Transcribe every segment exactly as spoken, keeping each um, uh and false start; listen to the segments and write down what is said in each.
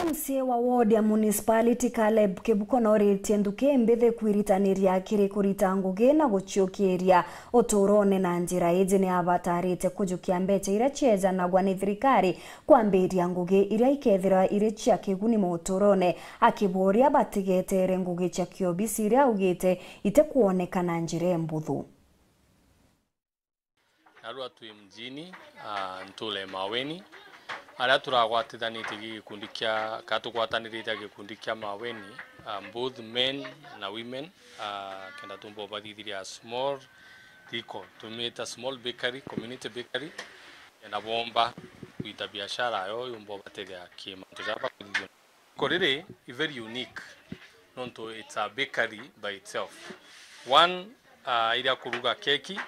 M C A wa ward ya municipality Caleb Kibuko noritie nthuki mbithi kwiritaniria kiri kurita ngugi na guciukiria uturone na njira iji. Ni abatarite kujukia mbeca iria ciejanagwa ni thirikari kwambiria ngugi iria ikethirwa iri cia kiguni muturone, akiboria batigetere ngugi cia kiobisi iria augite itikwoneka na njira imbuthu. Narua twi mjini, ah, ntuura ya Maweni, aria turagwatithanitie gi gikundi kia, ka tugwatanirite gikundi kia Maweni, ah, both men na women, ah, kenda tumba ubathithiria small riko, tumita small bakery, community bakery, kenda bomba gwita biashara yo yumba ubatethia ki mantu jaria bakuthithia. Riko riri i very unique, nontu it's a bakery by itself. One, ah, iria kuruga keki,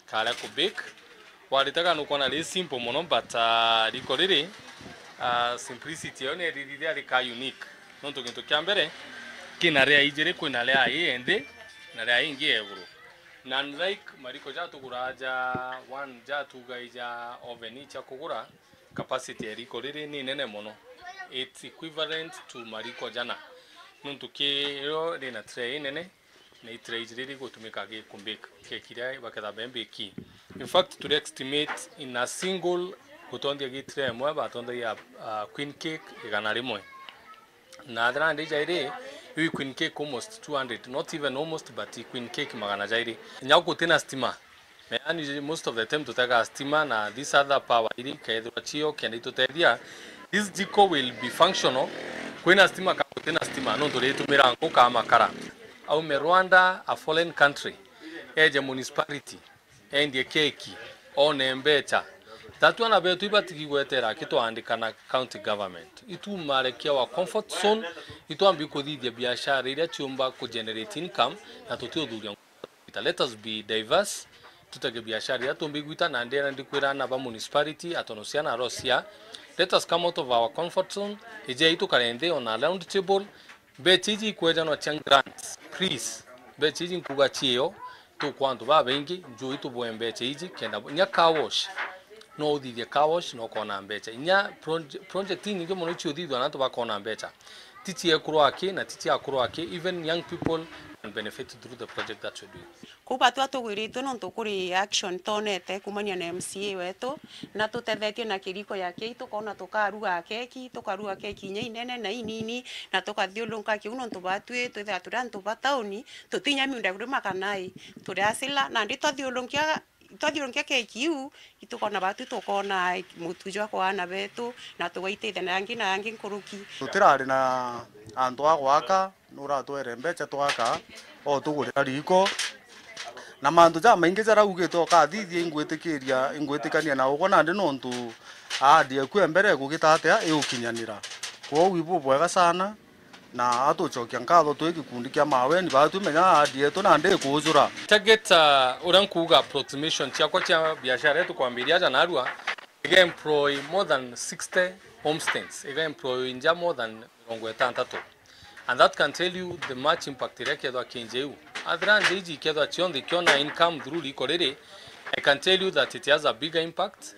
karia ku bake. Waritaga nukwona ri simple mono, but, ah, riko riri, ah, simplicity yayo nerithithia rika unique. Nontu gintu kia mbere, kina ria ijiri, kwina ria i nthi, na ria ingi ya iguru. Na unlike mariko ja tugura ja one, ja tugai ja oven cia kugura, capacity ya riko riri ni nene mono. It's equivalent to mariko jana. Nontu ki rio rina tray inene, na i tray iji riri gutumika gi ku bake keki iria baketha be mbiki. In fact, turi estimate in a single gutonthia gi tray imwe, batonthia, ah, queen cake igana rimwe. Na athira ndi jairi, iu queen cake almost two hundred, not even almost, but queen cake magana jairi. Nya gutina stima. Yaani, most of the time tutega stima na this other power iri kethirwa cio kenda itutethia. This jiko will be functional. Kwina stima ka gutina stima, nontu ritumira nku ka makara. Aume Rwanda, a foreign country, eje municipality, endie keki, one mbecha. Tatu ana betu ibatigi gwetera aki twaandika na county government. Itumarekia our comfort zone, itwambi kuthithia biashara iria ciumba ku generate income, na tutiuthuria. Let us be diverse, tutege biashara iria tumbi gwita, na ndira ndikwira ana ba municipality, atono ciana arocia. Let us come out of our comfort zone, ijei tukare nthi on a round table, Mbecha iji ikwejanwa cia grants, please. Mbecha iji nkuga ciio, tukwa antu babaingi, njui tubwe mbecha iji, kenda nya car wash. No uthithie car wash, na ukona mbecha. Inya proje-, project inyingi mono icio uthithwa na antu bakona mbecha. Ti cia ekuru aki, na ti cia akuru aki, even young people can benefit through the project that we do. Kuu batwi tugwiritue nontu kuri action twonete kumania na M C A wetu, na tutethetue na kiriko ya kei, tukona tukaruga keki, tukaruga keki inya inene na inini, na tukathiurunka kiu nontu batwi twithira turi antu ba tauni, tutinya miunda kuri makanai, turi asila, nandi twathiurunkia, twathiurunkia keki iu, itukona batwi tukona mutu jwa kwa ana betu, na tugaitithia na yangi na yangi nkuruki. Tutirari na antu a gwaka, nuratwere mbecha twaka, o tugurira riko. Na mantu jamaingi jaraugite ukathithia, ingwitikiria, ingwitikania na ugwe nandi nontu ahadi eku e mbere egugita atia iukinyanira. Kwou ibubwega sana, na atucokia nkatho twi gikundi kia Maweni, batwi menya ahadi yetu nandi ikujura. Target, uh, uria nkuuga approximation ciakwa cia biashara yetu kwambiria aja narua, iga employ more than sixty homesteads, iga employ nja more than mirongo itantatu. And that can tell you the much impact iria kethwa kinje iu. Athira nje iji kethwa cionthe ikiona income through riko riri, I can tell you that it has a bigger impact